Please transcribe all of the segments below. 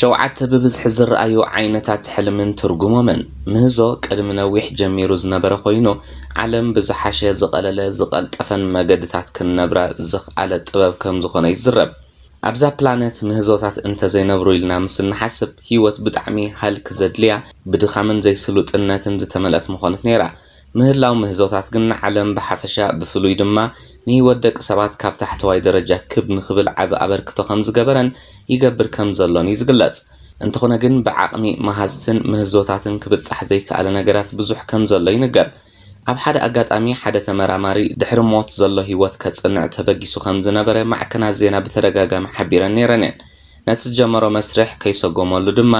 ሸውዓተ ብብዝሒ ዝረኣዩ ዓይነታት ሕልምን ትርጉሞምን። ምህዞ ቅድሚ ነዊሕ ጀሚሩ ዝነበረ ኮይኑ፣ ዓለም ብዝሓሸ ዝቐለለ ዝቐልጠፈን መገድታት ክንነብራ ዝኽኣለ ጥበብ ከም ዝኾነ ይዝረብ። ኣብዛ ፕላነት ምህዞታት እንተዘይነብሩ ኢልና ምስ እንሓስብ፣ ህይወት ብጣዕሚ ሃልክ ዘድልያ፣ ብድኻምን ዘይስሉጥነትን ዝተመልአት ምኾነት ነይራ። ምህላው ምህዞታት ግን ንዓለም ብሓፈሻ፣ ብፍሉይ ድማ ንህይወት ደቂ ሰባት ካብ ታሕተዋይ ደረጃ ክብ ንኽብል ዓቢ ኣበርክቶ ከም ዝገበረን ይገብር ከም ዘሎን እዩ ዝግለጽ። እንተኾነ ግን ብዓቕሚ መሃዝትን ምህዞታትን ክብጻሕ ዘይከኣለ ነገራት ብዙሕ ከም ዘሎ ይንገር። ኣብ ሓደ ኣጋጣሚ ሓደ ተመራማሪ ድሕሪ ሞት ዘሎ ህይወት ከጽንዕ ተበጊሱ ከም ዝነበረ ማዕከናት ዜና ብተደጋጋሚ ሓቢረን ነይረን እየን። ነቲ ዝጀመሮ መስርሕ ከይሰጎመሉ ድማ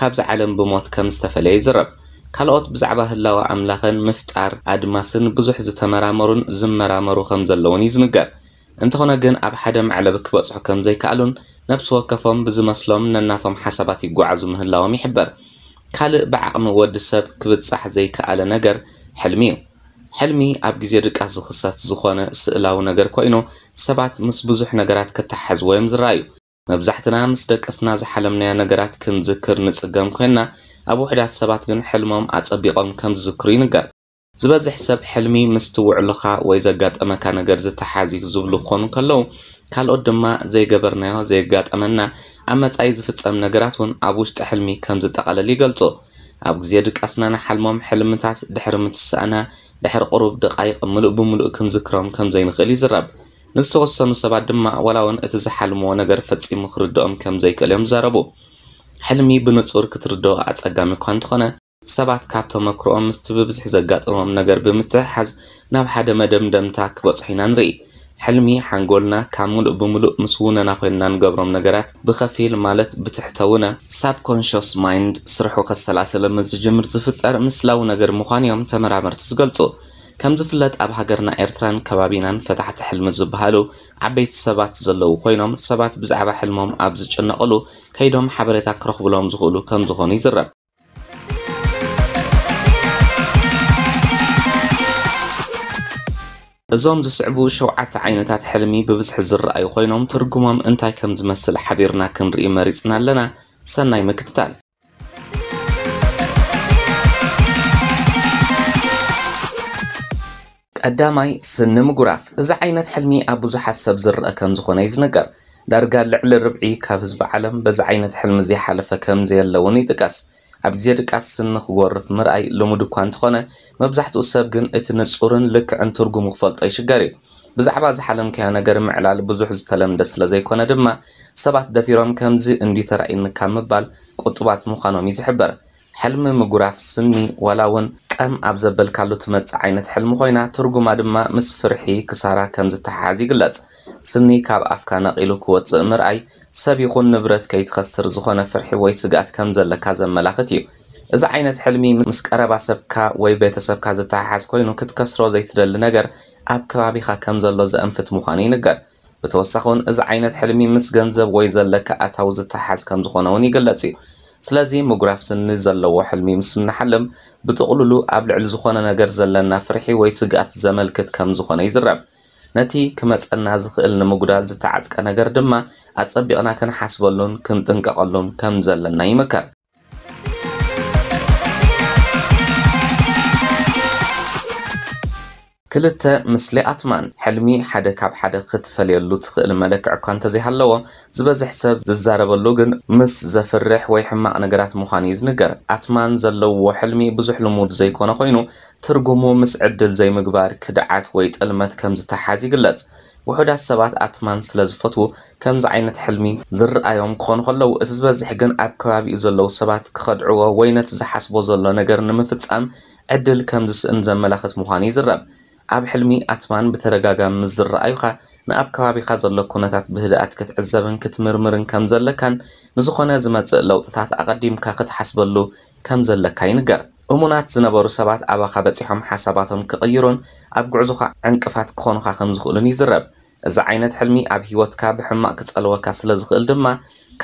ካብዚ ዓለም ብሞት ከም ዝተፈለየ ይዝረብ። ካልኦት ብዛዕባ ህላወ ኣምላኽን ምፍጣር ኣድማስን ብዙሕ ዝተመራመሩን ዝመራመሩ ከም ዘለውን እዩ ዝንገር። እንተኾነ ግን ኣብ ሓደ መዕለቢ ክበጽሑ ከም ዘይከኣሉን ነብሲ ወከፎም ብዝመስሎም ነናቶም ሓሳባት ይጓዓዙ ምህላዎም ይሕበር። ካልእ ብዓቕሚ ወዲ ሰብ ክብጻሕ ዘይከኣለ ነገር ሕልሚ እዩ። ሕልሚ ኣብ ግዜ ድቃስ ዝኽሰት ዝኾነ ስእላዊ ነገር ኮይኑ፣ ሰባት ምስ ብዙሕ ነገራት ክተሓሕዝዎ እዮም ዝረኣዩ። መብዛሕትና ምስ ደቀስና ዝሓለምናዮ ነገራት ክንዝክር ንጽገም ኮይንና፣ ኣብ ውሑዳት ሰባት ግን ሕልሞም ኣጸቢቖም ከም ዝዝክሩ ይንገር። ዝበዝሕ ሰብ ሕልሚ ምስቲ ውዕሎኻ ወይ ዘጋጠመካ ነገር ዝተሓዝ እዩ ዝብሉ ክኾኑ ከለዉ፣ ካልኦት ድማ ዘይገበርናዮ፣ ዘየጋጠመና፣ ኣብ መጻኢ ዝፍጸም ነገራት እውን ኣብ ውሽጢ ሕልሚ ከም ዝጠቓለል ይገልጹ። ኣብ ግዜ ድቃስና ንሓልሞም ሕልምታት ድሕሪ ምትሳእና፣ ድሕሪ ቁሩብ ደቓይቕ ምሉእ ብምሉእ ክንዝክሮም ከም ዘይንኽእል ይዝረብ። ንዝተወሰኑ ሰባት ድማ ዋላ እውን እቲ ዝሓልምዎ ነገር ፈጺሙ ክርድኦም ከም ዘይክእል እዮም ዝዛረቡ። ሕልሚ ብንጹር ክትርድኦ ኣጸጋሚ እኳ እንተኾነ፣ ሰባት ካብ ተመክሮኦም ምስቲ ብብዝሒ ዘጋጥሞም ነገር ብምትሕሓዝ ናብ ሓደ መደምደምታ ክበጽሑ ኢና ንርኢ። ሕልሚ ሓንጎልና ካብ ምሉእ ብምሉእ ምስ ውነና ኮይንና ንገብሮም ነገራት ብኸፊል ማለት ብትሕተ ውነ፣ ሳብኮንሽስ ማይንድ፣ ስርሑ ከሰላሰለ ምስ ዝጅምር ዝፍጠር ምስላዊ ነገር ምዃኑ እዮም ተመራመርቲ ዝገልጹ። ከም ዝፍለጥ ኣብ ሃገርና ኤርትራን ከባቢናን ፈታሕቲ ሕልሚ ዝበሃሉ ዓበይቲ ሰባት ዘለዉ ኮይኖም ሰባት ብዛዕባ ሕልሞም ኣብ ዝጭነቕሉ ከይዶም ሓበሬታ ክረኽብሎም ዝኽእሉ ከም ዝኾኑ ይዝረብ። እዞም ዝስዕቡ ሸውዓተ ዓይነታት ሕልሚ ብብዝሒ ዝረኣዩ ኮይኖም ትርጉሞም እንታይ ከም ዝመስል ሓቢርና ክንርኢ መሪጽና ኣለና። ሰናይ ምክትታል። ቀዳማይ፣ ስኒ ምጉራፍ። እዚ ዓይነት ሕልሚ ኣብ ብዙሓት ሰብ ዝረአ ከም ዝኾነ እዩ ዝንገር። ዳርጋ ልዕሊ ርብዒ ካብ ህዝቢ ዓለም በዚ ዓይነት ሕልሚ ዘይሓለፈ ከም ዘየለ እውን ይጥቀስ። ኣብ ግዜ ድቃስ ስኒ ክጎርፍ ምርኣይ ልሙድ እኳ እንተኾነ፣ መብዛሕትኡ ሰብ ግን እቲ ንጹርን ልክዕን ትርጉሙ ክፈልጦ ይሽገር እዩ። ብዛዕባ ዝሓለምካዮ ነገር ምዕላል ብዙሕ ዝተለምደ ስለ ዘይኮነ ድማ፣ ሰባት ደፊሮም ከምዚ እንዲ ተራእዩኒ ካብ ምባል ቁጡባት ምዃኖም እዩ ዝሕበር። ሕልሚ ምጉራፍ ስኒ ዋላ እውን ቀም ኣብ ዘበልካሉ ትመጽእ ዓይነት ሕልሚ ኮይና፣ ትርጉማ ድማ ምስ ፍርሒ፣ ክሳራ ከም ዝተሓሓዝ ይግለጽ። ስኒ ካብ ኣፍካ ነቒሉ ክወጽእ ምርኣይ፣ ሰብ ይኹን ንብረት ከይትኸስር ዝኾነ ፍርሒ ወይ ስግኣት ከም ዘለካ ዘመላኽት እዩ። እዚ ዓይነት ሕልሚ ምስ ቀረባ ሰብካ ወይ ቤተሰብካ ዝተሓሓዝ ኮይኑ፣ ክትከስሮ ዘይትደሊ ነገር ኣብ ከባቢኻ ከም ዘሎ ዘእንፍት ምዃኑ ይንገር። ብተወሳኺ እውን እዚ ዓይነት ሕልሚ ምስ ገንዘብ ወይ ዘለካ ኣታዊ ዝተሓሓዝ ከም ዝኾነ እውን ይግለጽ እዩ። ስለዚ ምጉራፍ ስኒ ዘለዎ ሕልሚ ምስ እንሓልም ብጥቕሉሉ ኣብ ልዕሊ ዝኾነ ነገር ዘለና ፍርሒ ወይ ስግኣት ዘመልክት ከም ዝኾነ ይዝረብ። ነቲ ክመጸና ዝኽእል ንምጉዳል ዝተዓጥቀ ነገር ድማ ኣጸቢቕና ክንሓስበሉን ክንጥንቀቐሉን ከም ዘለና ይምከር። ክልተ፣ ምስሊ ኣትማን። ሕልሚ ሓደ ካብ ሓደ ክትፈልየሉ ትኽእል መለክዕ እኳ እንተዘይሃለዎ፣ ዝበዝሕ ሰብ ዝዛረበሉ ግን ምስ ዘፍርሕ ወይ ሕማቕ ነገራት ምዃኑ እዩ ዝንገር። ኣትማን ዘለዎ ሕልሚ ብዙሕ ልሙድ ዘይኮነ ኮይኑ፣ ትርጉሙ ምስ ዕድል ዘይምግባር፣ ክድዓት ወይ ጥልመት ከም ዝተሓዝ ይግለጽ። ውሑዳት ሰባት ኣትማን ስለ ዝፈትዉ፣ ከምዚ ዓይነት ሕልሚ ዝረኣዮም ክኾኑ ከለዉ፣ እቲ ዝበዝሕ ግን ኣብ ከባቢኡ ዘለዉ ሰባት ክኸድዕዎ ወይ ነቲ ዝሓስቦ ዘሎ ነገር ንምፍጻም ዕድል ከም ዝስእን ዘመላኽት ምዃኑ ይዝረብ። ኣብ ሕልሚ ኣትማን ብተደጋጋሚ ምስ ዝረኣዩኻ፣ ንኣብ ከባቢኻ ዘሎ ኩነታት ብህድኣት ክትዕዘብን ክትምርምርን ከም ዘለካን፣ ንዝኾነ ዝመጽእ ለውጥታት ኣቐዲምካ ክትሓስበሉ ከም ዘለካ ይንገር። እሙናት ዝነበሩ ሰባት ኣባኻ በጺሖም ሓሳባቶም ክቕይሩን ኣብ ጉዕዞኻ ዕንቅፋት ክኾኑኻ ከም ዝኽእሉን ይዝረብ። እዚ ዓይነት ሕልሚ ኣብ ህይወትካ ብሕማቕ ክጸልወካ ስለ ዝኽእል ድማ፣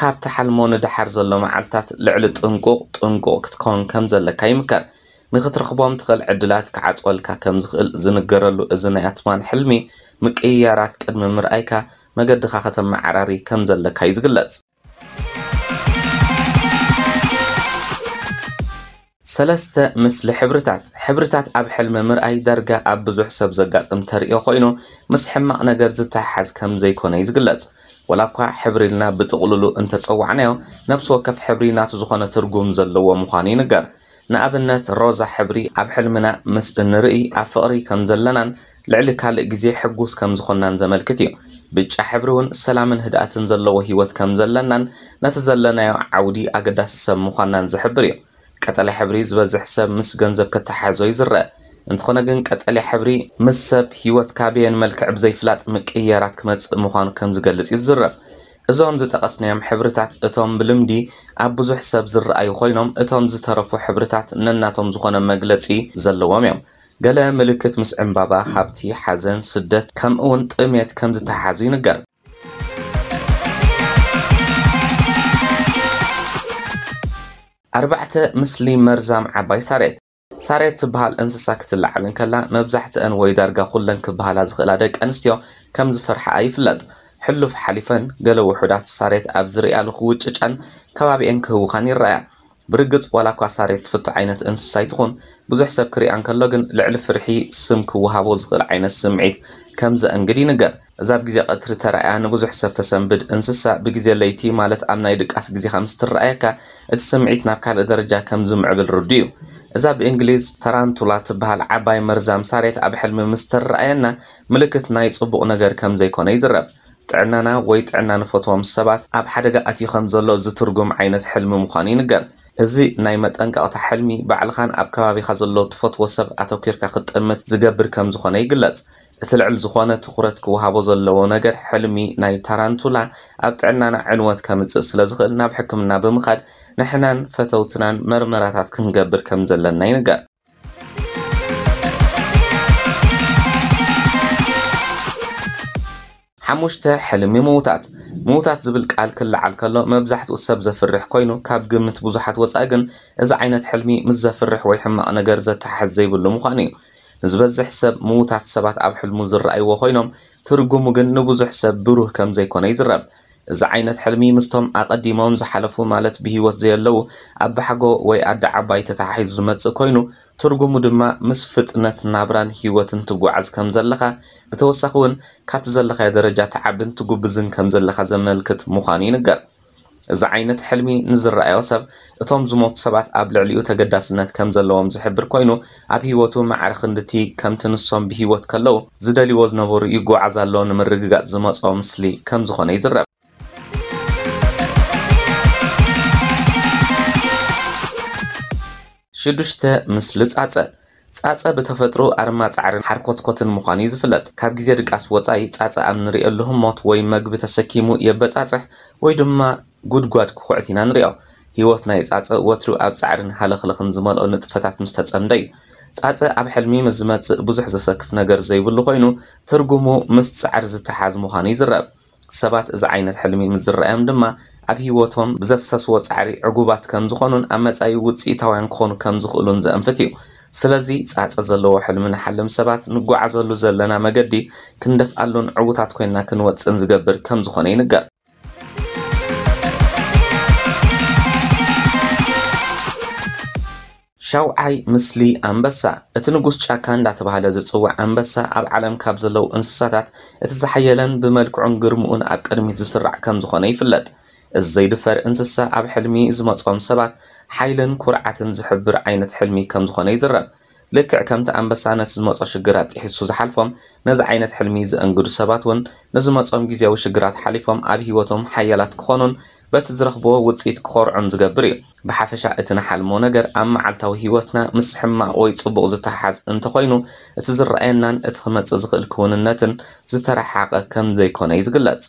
ካብ ትሓልሞ ንደሓር ዘሎ መዓልታት ልዕሊ ጥንቁቕ ጥንቁቕ ክትከውን ከም ዘለካ ይምከር። ንኽትረኽቦም ትኽእል ዕድላት ክዓጽወልካ ከም ዝኽእል ዝንገረሉ እዚ ናይ ኣትማን ሕልሚ፣ ምቅይያራት ቅድሚ ምርኣይካ መገድኻ ከተመዓራሪ ከም ዘለካ እዩ ዝግለጽ። ሰለስተ፣ ምስሊ ሕብርታት። ሕብርታት ኣብ ሕልሚ ምርኣይ ዳርጋ ኣብ ብዙሕ ሰብ ዘጋጥም ተርእዮ ኮይኑ፣ ምስ ሕማቕ ነገር ዝተሓሓዝ ከም ዘይኮነ እዩ ዝግለጽ። ወላ እኳ ሕብሪ ኢልና ብጥቕልሉ እንተጸዋዕናዮ፣ ነፍሲ ወከፍ ሕብሪ ናቱ ዝኾነ ትርጉም ዘለዎ ምዃኑ ይንገር። ንኣብነት፣ ሮዛ ሕብሪ ኣብ ሕልምና ምስ እንርኢ ኣብ ፍቕሪ ከም ዘለናን ልዕሊ ካልእ ግዜ ሕጉስ ከም ዝኾንናን ዘመልክት እዩ። ብጫ ሕብሪ እውን ሰላምን ህድኣትን ዘለዎ ህይወት ከም ዘለናን ነቲ ዘለናዮ ዓውዲ ኣገዳሲ ሰብ ምዃንናን ዝሕብር እዩ። ቀጠልያ ሕብሪ ዝበዝሕ ሰብ ምስ ገንዘብ ከተሓሕዞ ይዝረእ። እንተኾነ ግን ቀጠልያ ሕብሪ ምስ ሰብ ህይወት ካበየን መልክዕ ብዘይፍላጥ ምቅይያራት ክመጽእ ምዃኑ ከም ዝገልጽ ይዝረብ። እዞም ዝጠቐስናዮም ሕብርታት እቶም ብልምዲ ኣብ ብዙሕ ሰብ ዝረኣዩ ኮይኖም፣ እቶም ዝተረፉ ሕብርታት ነናቶም ዝኾነ መግለጺ ዘለዎም እዮም። ገለ ምልክት ምስ ዕምባባ፣ ሃብቲ፣ ሓዘን፣ ስደት፣ ከምኡውን ጥሜት ከም ዝተሓሓዙ ይንገር። ኣርባዕተ፣ ምስሊ መርዛም ዓባይ ሳሬት። ሳሬት ትበሃል እንስሳ ክትለዓል እንከላ፣ መብዛሕትአን ወይ ዳርጋ ኩለን ክበሃላ ዝኽእላ ደቂ ኣንስትዮ ከም ዝፈርሓኣ ይፍለጥ። ሕሉፍ ሓሊፈን፣ ገለ ውሑዳት ሳሬት ኣብ ዝርእያሉ ክውጭጫን ከባቢኤን ክህውኻን ይረኣያ። ብርግጽ፣ ዋላ እኳ ሳሬት ትፍቶ ዓይነት እንስሳ ኣይትኹን፣ ብዙሕ ሰብ ክሪኣ እንከሎ ግን ልዕሊ ፍርሒ ስም ክወሃቦ ዝኽእል ዓይነት ስምዒት ከም ዘእንግድ ይንገር። እዛ ኣብ ግዜ ቀትሪ ተራእያ ንብዙሕ ሰብ ተሰንብድ እንስሳ፣ ብግዜ ለይቲ፣ ማለት ኣብ ናይ ድቃስ ግዜኻ ምስ ትረኣየካ፣ እቲ ስምዒት ናብ ካልእ ደረጃ ከም ዝምዕብል ርዱእ እዩ። እዛ ብእንግሊዝ ታራንቱላ ትበሃል ዓባይ መርዛም ሳሬት ኣብ ሕልሚ ምስ ትረኣየና፣ ምልክት ናይ ጽቡቕ ነገር ከም ዘይኮነ ይዝረብ። ጥዕናና ወይ ጥዕና ንፈትዎም ሰባት ኣብ ሓደጋ ኣትዩ ከም ዘሎ ዝትርጉም ዓይነት ሕልሚ ምዃኑ ይንገር። እዚ ናይ መጠንቀቕታ ሕልሚ፣ ባዕልኻን ኣብ ከባቢኻ ዘሎ ትፈትዎ ሰብ ኣተኲርካ ክትጥምት ዝገብር ከም ዝኾነ ይግለጽ። እቲ ልዕል ዝኾነ ትኹረት ክወሃቦ ዘለዎ ነገር፣ ሕልሚ ናይ ታራንቱላ ኣብ ጥዕናና ዕንወት ከምጽእ ስለ ዝኽእል፣ ናብ ሕክምና ብምኻድ ንሕናን ፈተውትናን መርመራታት ክንገብር ከም ዘለና ይንገር። ሓሙሽተ፣ ሕልሚ ምዉታት። ምዉታት ዝብል ቃል ክለዓል ከሎ፣ መብዛሕትኡ ሰብ ዘፍርሕ ኮይኑ፣ ካብ ግምት ብዙሓት ወጻኢ ግን፣ እዚ ዓይነት ሕልሚ ምስ ዘፍርሕ ወይ ሕማቕ ነገር ዘተሓሕዝ ዘይብሉ ምዃኑ እዩ። ንዝበዝሕ ሰብ፣ ምዉታት ሰባት ኣብ ሕልሙ ዝረኣይዎ ኮይኖም፣ ትርጉሙ ግን ንብዙሕ ሰብ ብሩህ ከም ዘይኮነ ይዝረብ። እዚ ዓይነት ሕልሚ ምስቶም ኣቐዲሞም ዝሓለፉ፣ ማለት ብህይወት ዘየለዉ ኣባሓጎ ወይ ኣደ ዓባይ ተተሓሒዙ ዝመጽእ ኮይኑ፣ ትርጉሙ ድማ ምስ ፍጥነት ናብራን ህይወትን ትጓዓዝ ከም ዘለኻ፣ ብተወሳኺ እውን ካብቲ ዘለኻዮ ደረጃ ትዓብን ትጉብዝን ከም ዘለኻ ዘመልክት ምዃኑ ይንገር። እዚ ዓይነት ሕልሚ ንዝረኣዮ ሰብ፣ እቶም ዝሞቱ ሰባት ኣብ ልዕሊኡ ተገዳስነት ከም ዘለዎም ዝሕብር ኮይኑ፣ ኣብ ህይወቱ ማዕረ ክንድቲ ከምቲ ንሶም ብህይወት ከለዉ ዝደልይዎ ዝነበሩ ይጓዓዝ ኣሎ ንምርግጋጽ ዝመጾ ምስሊ ከም ዝኾነ ይዝረብ። ሽዱሽተ፣ ምስሊ ጻጸ። ጻጸ ብተፈጥሮ ኣርማ ጻዕርን ሓርኮትኮትን ምዃኑ እዩ ዝፍለጥ። ካብ ግዜ ድቃስ ወጻኢ ጻጸ ኣብ ንርእየሉ ህሞት ወይ መግቢ ተሰኪሙ የበጻጽሕ ወይ ድማ ጉድጓድ ክኹዕት ኢና ንርእዮ። ህይወት ናይ ጻጸ ወትሩ ኣብ ጻዕርን ሃለኽለኽን ዝመልኦ ንጥፈታት ምስ ተጸምደ እዩ። ጻጸ ኣብ ሕልሚ ምስ ዝመጽእ ብዙሕ ዘሰክፍ ነገር ዘይብሉ ኮይኑ፣ ትርጉሙ ምስ ጻዕሪ ዝተሓዝ ምዃኑ ይዝረብ። ሰባት እዚ ዓይነት ሕልሚ ምስ ዝረኣዮም ድማ፣ ኣብ ህይወቶም ብዘፍሰስዎ ጻዕሪ ዕጉባት ከም ዝኾኑን ኣብ መጻኢ ውጽኢታውያን ክኾኑ ከም ዝኽእሉን ዘእንፍት እዩ። ስለዚ፣ ጻጸ ዘለዎ ሕልሚ ንሓልም ሰባት፣ ንጓዓዘሉ ዘለና መገዲ ክንደፍኣሉን ዕዉታት ኮይንና ክንወጽእን ዝገብር ከም ዝኾነ ይንገር። ሻውዓይ፣ ምስሊ ኣንበሳ። እቲ ንጉስ ጫካ እንዳተባህለ ዝጽዋዕ ኣንበሳ፣ ኣብ ዓለም ካብ ዘለዉ እንስሳታት እቲ ዝሓየለን ብመልክዑን ግርምኡን ኣብ ቅድሚት ዝስራዕ ከም ዝኾነ ይፍለጥ። እዚ ዘይድፈር እንስሳ፣ ኣብ ሕልሚ ዝመጾም ሰባት ሓይልን ኩርዓትን ዝሕብር ዓይነት ሕልሚ ከም ዝኾነ ይዝረብ። ልክዕ ከምቲ ኣንበሳ ነቲ ዝመጾ ሽግራት ጥሒሱ ዝሓልፎም፣ ነዚ ዓይነት ሕልሚ ዘእንግዱ ሰባት እውን፣ ንዝመጾም ግዜያዊ ሽግራት ሓሊፎም፣ ኣብ ህይወቶም ሓያላት ክኾኑን በቲ ዝረኽብዎ ውጽኢት ክኾርዑን ዝገብር እዩ። ብሓፈሻ፣ እቲ ንሓልሞ ነገር ኣብ መዓልታዊ ህይወትና ምስ ሕማቕ ወይ ጽቡቕ ዝተሓሓዝ እንተኾይኑ፣ እቲ ዝረኣየናን እቲ ክመጽእ ዝኽእል ክውንነትን ዝተረሓሓቐ ከም ዘይኮነ እዩ ዝግለጽ።